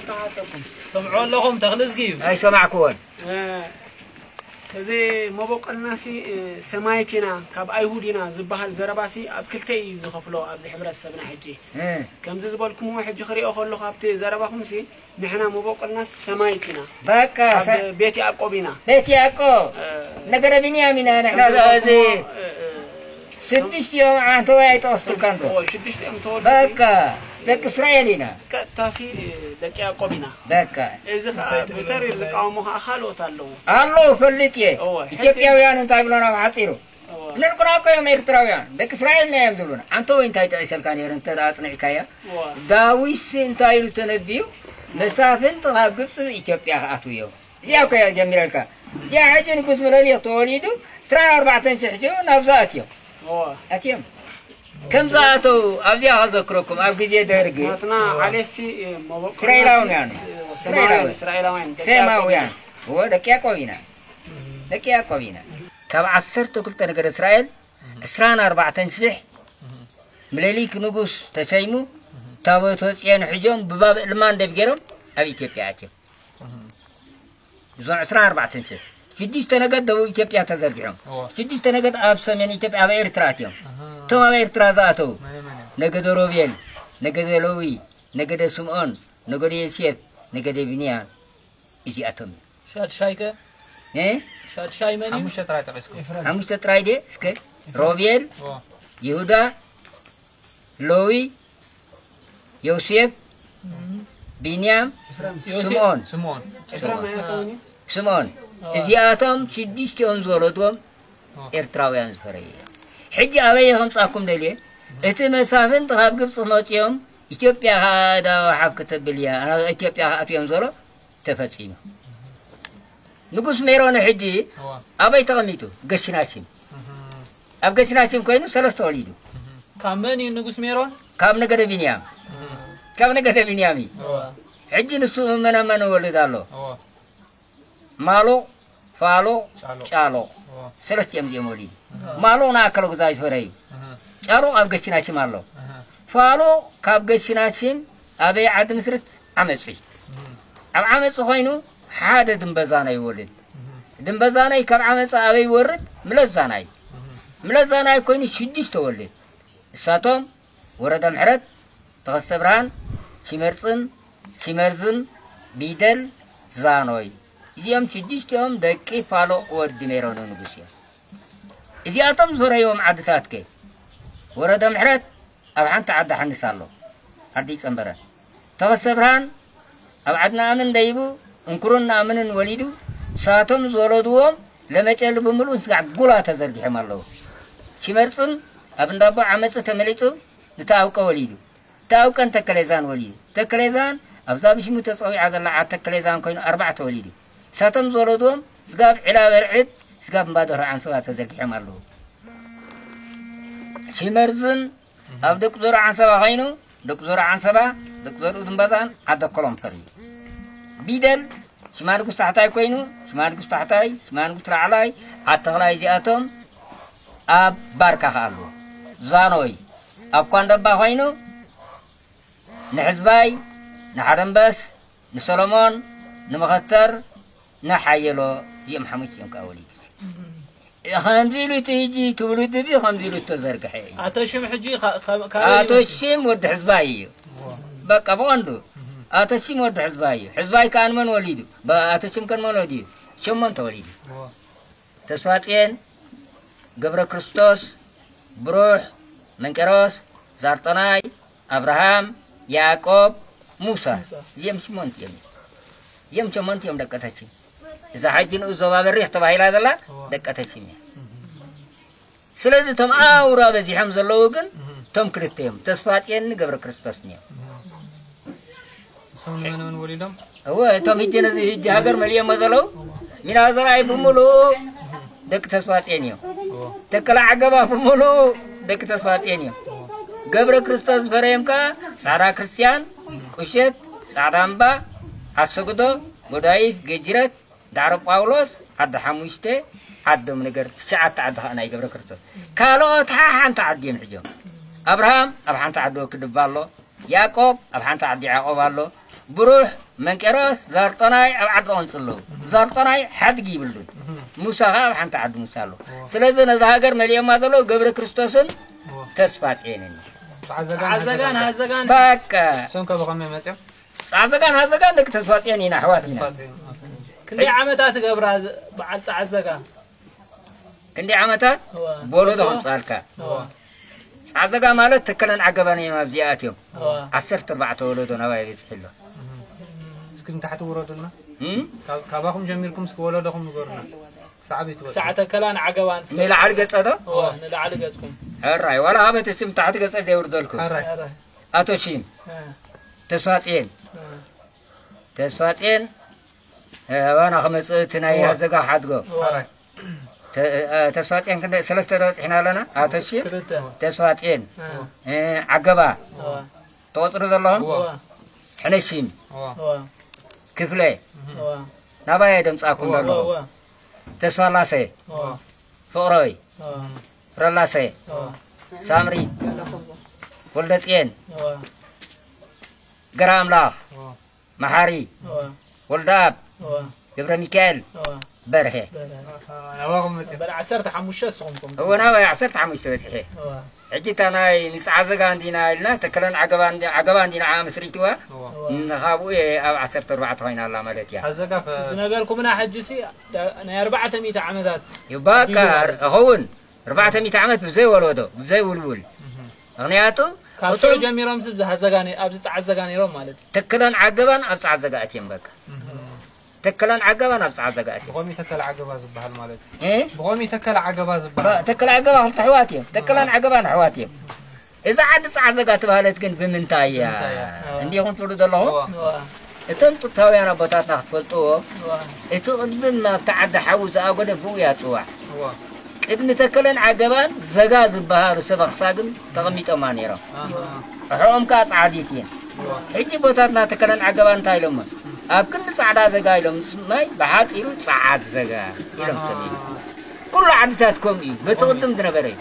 ተሓተኩም። ሰምዖ ኣለኹም ተኽልዝጊ እዩ። ኣይሰማዕኩዎን። እ፣ እዚ መበቆልናሲ፣ እ፣ ሰማይት ኢና፣ ካብ ኣይሁድ ኢና ዝበሃል ዘረባሲ ኣብ ክልተ እዩ ዝኸፍሎ ኣብዚ ሕብረተሰብና ሕጂ። እ። ከምዚ ዝበልኩምዎ ሕጂ ክሪኦ ከለኹ ኣብቲ ዘረባኹምሲ ንሕና መበቆልናስ ሰማይት ኢና። በቃ፣ ካብ ሰ-፣ ቤት ያዕቆብ ኢና። ቤት ያዕቆብ። እ፣ ነገደ ቢንያም ኢና ንሕና ከምዚ እዚ ዝበልኩምዎ፣ እ፣ እ፣ ስድሽቲኦም ዓንተዋይ ኣይጠቐስኩልካን ዶ? ኦ፣ ሽዱሽቲኦም ተወልዱ በቃ፣ ሲ-፣ ደቂ እስራኤል ኢና። ቀጥታ ሲ ደቂ ያዕቆብ ኢና። በቃ። እዚ ኸኣ ብተሪር ዝቃወሙ ኸኣ ካልኦት ኣለዉ። ኣለዉ፣ ፈልጥ እየ። እወ፣ ሕጂ ኢትዮጵያውያን እንታይ ብሎና ብሓጺሩ? እወ። ንዕቁና እኮ እዮም ኤርትራውያን። ደቂ እስራኤል ኢና እዮም ዝብሉና። ዓንተወይ እንታይ ጠቒሰልካ ነይሩ እንተ ደኣ ኣጽኒዕካያ? እወ። ዳዊትሲ እንታይ ኢሉ ተነብዩ? መሳፍንት ካብ ግብጺ ኢትዮጵያ ክኣትዉ እዮም። እዚኣ እኮ እያ ጀሚረልካ። እዚኣ ሕጂ ንጉስ ምኒልክ ተወሊዱ፣ ዕስራን ኣርባዕተን ሽሕ ሒዞም ናብዛ ኣትዮም። እወ። ኣትዮም። ከም ዝኣተው ኣብዚኣ ከዘክረኩም፣ ኣብ ግዜ ደርግ ናትና ዓሌሲ፣ እ፣ መበቆልና እስራኤላውያን፣ ስ-፣ ስ-፣ እስራኤላውያን። እስራኤላውያን፣ ደቂ ያዕቆብ ኢና። ሴማውያን። እወ፣ ደቂ ያዕቆብ ኢና። ደቂ ያዕቆብ ኢና። ካብ ዓሰርተ ክልተ ነገደ እስራኤል፣ ዕስራን ኣርባዕተን ሽሕ ምኒልክ ንጉስ ተሰይሙ፣ ታቦተ ጽዮን ሒዞም ብባብ እልማንደብ ገይሮም ኣብ ኢትዮጵያ ኣትዮም። እዞም ዕስራን ኣርባዕተን ሽሕ። ሽዱሽተ ነገድ ደቡብ ኢትዮጵያ ተዘርጊሖም። እወ። ሽዱሽተ ነገድ ኣብ ሰሜን ኢትዮጵያ፣ ኣብ ኤርትራ ኣትዮም። ኣሃ። እቶም ኣብ ኤርትራ ዝኣተዉ፣ መን መን እዮም? ነገደ ሮቤል፣ ነገደ ለዊ፣ ነገደ ስምዖን፣ ነገደ ዮሴፍ፣ ነገደ ብንያም፣ እዚኣቶም እዮም። ሻድሻይ ከ? እ? ሻድሻይ መን እዩ? ሓሙሽተ ጥራይ ጠቒስኩም። ሓሙሽተ ጥራይ ድየ? እስከ፣ ሮቤል፣ እወ። ይሁዳ፣ ሎዊ፣ ዮሴፍ፣ ቢንያም፣ ዮሴፍ። ስምዖን። ስምዖን። ኤፍሬም ኣይኣተወን እዩ? ስምዖን። እወ። እዚኣቶም ሽዱሽቲኦም ዝወለድዎም እወ። ኤርትራውያን ዝፈረዩ እዮም። ሕጂ ኣበይ ከምጻኩም ደልየ? እቲ መሳፍንት ካብ ግብጺ መጺኦም ኢትዮጵያ ከኣ እዳ ወሓፍ ክተብል እያ፣ ናብ ኢትዮጵያ ክኣትው እዮም ዝበሎ ተፈጺሙ። ንጉስ ሜሮን ሕጂ እወ። ኣበይ ተቐሚጡ? ገሽናሽም። እህ። ኣብ ገሽናሽም ኮይኑ ሰለስተ ወሊዱ። እህ። ካብ መን እዩ ንጉስ ሜሮን? ካብ ነገደ ቢንያም። እህ። ካብ ነገደ ቢንያም እዩ። እወ። ሕጂ ንሱ መነ መን ወልድ ኣሎ? እወ። ማሎ፣ ፋሎ፣ ጫሎ። ጫሎ። እወ። ሰለስቲኦም እዚኦም ወሊዱ። እህ። ማሎ ንኣከለ ጉዛይ ዝፈረ እዩ። እህ። ጫሎ ኣብ ገሽናሽም ኣሎ። እህ። ፋሎ ካብ ገሽናሽም ኣበይ ዓዲ ምስርት ዓመጺ። እህ። ኣብ ዓመጺ ኮይኑ ሓደ ድምበዛናይ ይወልድ። እህ። ድምበዛናይ ካብ ዓመጺ ኣበይ ይወርድ? ምለዛናይ። እህ። ምለዛናይ ኮይኑ ሽዱሽተ ወልድ። እሳቶም ወረደ ምሕረት፣ ተኸስተ ብርሃን፣ ሽመርጽም፣ ሽመርዝም፣ ቢደል፣ ዛኖይ። እዚኦም ሽዱሽቲኦም ደቂ ፋሎ ወዲ ሜሮን ንጉስ እዮም። እዚኣቶም ዝፈረይዎም ዓድታት ከ? ወረደ ምሕረት ኣብ ሓንቲ ዓዲ ሓንስ ኣሎ፣ ዓዲ ጸንበረ። ተኸስተ ብርሃን ኣብ ዓዲ ነኣምን ደይቡ እንኩሩን ነኣምንን ወሊዱ፣ ሳቶም ዝወለድዎም ለመጨሊ ብምሉእ ስጋዕ ጉላ ተዘርጊሖም ኣለዉ። ሽመርጽም ኣብ እንዳቦ ዓመጽ ተመሊጹ ንተኣውቀ ወሊዱ። ተኣውቀን ተከሌዛን ወሊዱ። ተከሌዛን ኣብዛ ብሽሙ ተጸዊዓ ዘላ ዓድ ተከሌዛን ኮይኑ ኣርባዕተ ወሊዱ። ሳቶም ዝወለድዎም ስጋብ ዒላ በርዕድ፣ ስጋብ እምባደርሆ ዓንሰባ ተዘርጊሖም ኣለዉ። ሽመርዝም ኣብ ደቂ ዞሮ ዓንሰባ ኮይኑ፣ ደቂ ዞሮ ዓንሰባ፣ ደቂ ዞሮ ድምበዛን ዓደ ኮሎምፈር እዩ። ቢደል ሽማንጉስ ታሕታይ ኮይኑ፣ ሽማንጉስ ታሕታይ፣ ሽማንጉስ ላዕላይ፣ ዓድ ተኽላይ እዚኣቶም ኣብ ባርካ ከኣ ኣለዉ። ዛኖይ ኣብ ኳንደባ ኮይኑ፣ ንሕዝባይ፣ ንሓደምበስ፣ ንሰሎሞን፣ ንመኸተር፣ ንሓየሎ እዚኦም ሓሙሽቲኦም ከኣ ወሊዱ። ከምዚ ኢሉ እቲ ሕጂ ትውልዲ እዚ ከምዚ ኢሉ ዝተዘርግሐ እዩ። ኣቶ ሽም ሕጂ ካ-፣ ካ-፣ ካበይ ኣቶ ይመጽእ? ሽም ወዲ ሕዝባይ እዩ። እዎ። በቃ ብቐንዱ እህ። ኣቶ ሽም ወዲ ሕዝባይ እዩ። ሕዝባይ ከኣ ንመን ወሊዱ? በ-፣ ኣቶ ሽም ከ ንመን ወሊዱ? ሸሞንተ ወሊዱ። እዎ። ተስፋጽዮን፣ ገብረ ክርስቶስ፣ ብሩሕ፣ መንቄሮስ፣ ዛርጦናይ፣ ኣብርሃም፣ ያዕቆብ፣ ሙሳ። ሙሳ። እዚኦም ሸሞንተ እዮም። እዚኦም ሸሞንተ እዮም ደቂ ተቺም። እዛ ሕጂ ንኡስ ዞባ በሪኽ ተባሂላ ዘላ እዋ። ደቂ ተቺም እያ። እህ። ስለዚ እቶም ኣውራ በዚሖም ዘለዉ ግን እህ። እቶም ክልተ እዮም። ተስፋጽዮንን ገብረ ክርስቶስን እዮም። እህ። እሶም ንመን መን ወሊዶም? እወ፣ እቶም ሕጂ ነዚ ሕጂ ሃገር መሊኦሞ ዘለዉ ሚና ዘርኣይ ብምሉኡ ደቂ ተስፋጽዮን እዮም። እዎ። ተከለ ዓገባ ብምሉኡ ደቂ ተስፋጽዮን እዮም። እዎ። ገብረ ክርስቶስ ዝፈረዮም ከኣ ጻዕዳ ክርስትያን፣ ቁሸት፣ ጻዕዳ እምባ፣ ኣሰግዶ፣ ጎዳይፍ፣ ገጅረት፣ ዳዕሮ ጳውሎስ፣ ዓዲ ሓሙሽተ፣ ዓዶም ነገር ትሽዓተ ዓዲ ከኣ ናይ ገብረ ክርስቶስ። ካልኦት ሓሓንቲ ዓዲ እዮም ሕጆም። ኣብርሃም ኣብ ሓንቲ ዓዲ ወክድባ ኣሎ። ያዕቆብ ኣብ ሓንቲ ዓዲ ያዕቆብ ኣሎ። ብሩሕ መንቄራስ ዛርጦናይ ኣብ ዓዲ ቐንጽ ኣለዉ። ዛርጦናይ ሓድጊ ይብሉን። ሙሳ ኸዓ ኣብ ሓንቲ ዓዲ ሙሳ ኣለዉ። ስለዚ ነዛ ሃገር መሊኦማ ዘለዉ ገብረ ክርስቶስን ተስፋ ጽዮንን እዮም። ጸዓዘጋን ጸዓዘጋን ሃዘጋን። ሃዘጋን። በቃ። እሶም ከ ብኸመይ መጺኦም? ጸዓዘጋን ሃዘጋን ደቂ ተስፋ ጽዮን ኢና፣ ኣሕዋት ኢና። ተስፋ ጽዮን። ክንደይ ዓመታት ገብራ ዝ-፣ በዓል ጸዓዘጋ? ክንደይ ዓመታት? እዋ። ብወለዶ እዋ። ከምጽኣልካ። እዋ። ጸዓዘጋ ማለት ተከለን ዓገባን እዮም ኣብዚ ኣትዮም። እዋ። ዓሰርተ ኣርባዕተ ወለዶ ናባይ በጺሑ ኣሎ። እስኪ ንታሕቲ ውረዱና። እም? ካብ-፣ ካባኹም ጀሚርኩም እስኪ ወለዶኹም ንገሩና። ክሳዕ ቤት ወለዶ። ክሳዕ ተከላን ዓገባን እስከ ንላዕሊ ገጸ ዶ? እዋ፣ ንላዕሊ ገጽኩም። ሕራይ፣ ዋላ ኣበቲ ስም ታሕቲ ገጸ ዘይውርደልኩም። ሕራይ። ሕራይ። ኣቶ ሺም። እ። ተስፋጽየን። እ። ተስፋጽየን፣ እ፣ ኣባና ክመጽእ እቲ ናይ እዋ። ሃዘጋ ሓድጎ። እዋ። ሕራይ። ተ-፣ እ፣ ተስፋጽየን ክንደይ ሰለስተ ዶ በጺሕና ኣለና? ኣቶ ሺም? ክልተ። ተስፋጽየን። እ። እ፣ ዓገባ። እዋ። ትቆጽሩ ዘለኹም? እዋ። ሕነሺም። እዋ። እዋ። ክፍለ። እዋ። ናባይ ደምጻኩም እዋ። ዘለኹም? እዋ። ተስፋላሰ። እዋ። ፍቕረይ። እዋ። ረላሰ። እዋ። ሳምሪ። ወልደጽየን። እዋ። ገራ ኣምላኽ። እዋ። መሓሪ። እዋ። ወልደኣብ። እዋ። ገብረ ሚካኤል። እዋ። በርሄ። በርሀ። ናባኹም መጺኦም። በል ዓሰርተ ሓሙሽተ ንስኹም ኮንኩም። እወ፣ ናባይ ዓሰርተ ሓሙሽተ በጺሐ። እዋ። ሕጂ እታ ናይ ንጸዓዘጋ እንዲና ኢልና፣ ተከለን ዓገባ እንዲ-፣ ዓገባ እንዲና ዓኣ መስሪትዋ። እዋ። እዋ። ንኻብኡ እየ ኣብ ዓሰርተ ኣርባዕተ ኮይና ኣላ ማለት እያ። ሃዘጋ ከ ዝነበርኩምና ሕጂ ሲ፣ ዳ-፣ ናይ ኣርባዕተ ሚእቲ ዓመታት እዩ። በቃ፣ ኣቢሉ ማለት እዩ። እኸውን። ኣርባዕተ ሚእቲ ዓመት ብዘይ ወለዶ፣ ብዘይ ውልውል። እህ። ምኽንያቱ፣ ካብ እቶም ሽዑ ጀሚሮም ስ-፣ ኣብዚ ሃዘጋ ነ-፣ ኣብዚ ጸዓዘጋ ነይሮም ማለት እዩ። ተከለን ዓገባን ኣብ ጸዓዘጋ ኣትዮም በቃ። እህ። ተከለን ዓገባን ኣብ ጸዓዘጋ ኣትዮም። ብኸመይ ተከለ ዓገባ ዝበሃል ማለት እዩ? እ? ብኸመይ ተከለ ዓገባ ዝበሃል? በ-፣ ተከለ ዓገባ ክልተ ኣሕዋት እዮም። ተከለን ዓገባን ኣሕዋት እዮም። እዛ ዓዲ ጸዓዘጋ ተባህለት ግን ብምንታይ እያ? ብምንታይ እያ? እንዲኹም ትብሉ ዘለኹም? እዋ። እዋ። እቶም ጥንታውያን ኣቦታትና ክትፈልጥዎ፣ እዋ። እቲ ቅድሚ ናብቲ ዓዲ ሓዊ ዝኣጎደ ብኡ እያ ትጽዋዕ። እዋ። ቅድሚ ተከለን ዓገባን ዘጋ ዝበሃሉ ሰብ ኣኽሳግም ተቐሚጦማ ነይሮም። ኣሃ። ኣሕኦም ከኣ ጻዕዲት እየን። እዋ። ሕጂ ቦታትና ተከለን ዓገባን እንታይ ኢሎሞ? ኣብ ክንዲ ጻዕዳ ዘጋ ኢሎም፣ ማይ ብሓጺሩ ጸዓት ዘጋ ኢሎም ኣሃ። ሰሚዖም። ኩሉ ዓድታት ከምኡ እዩ። በቲ ቅድም ዝነበረ እዩ።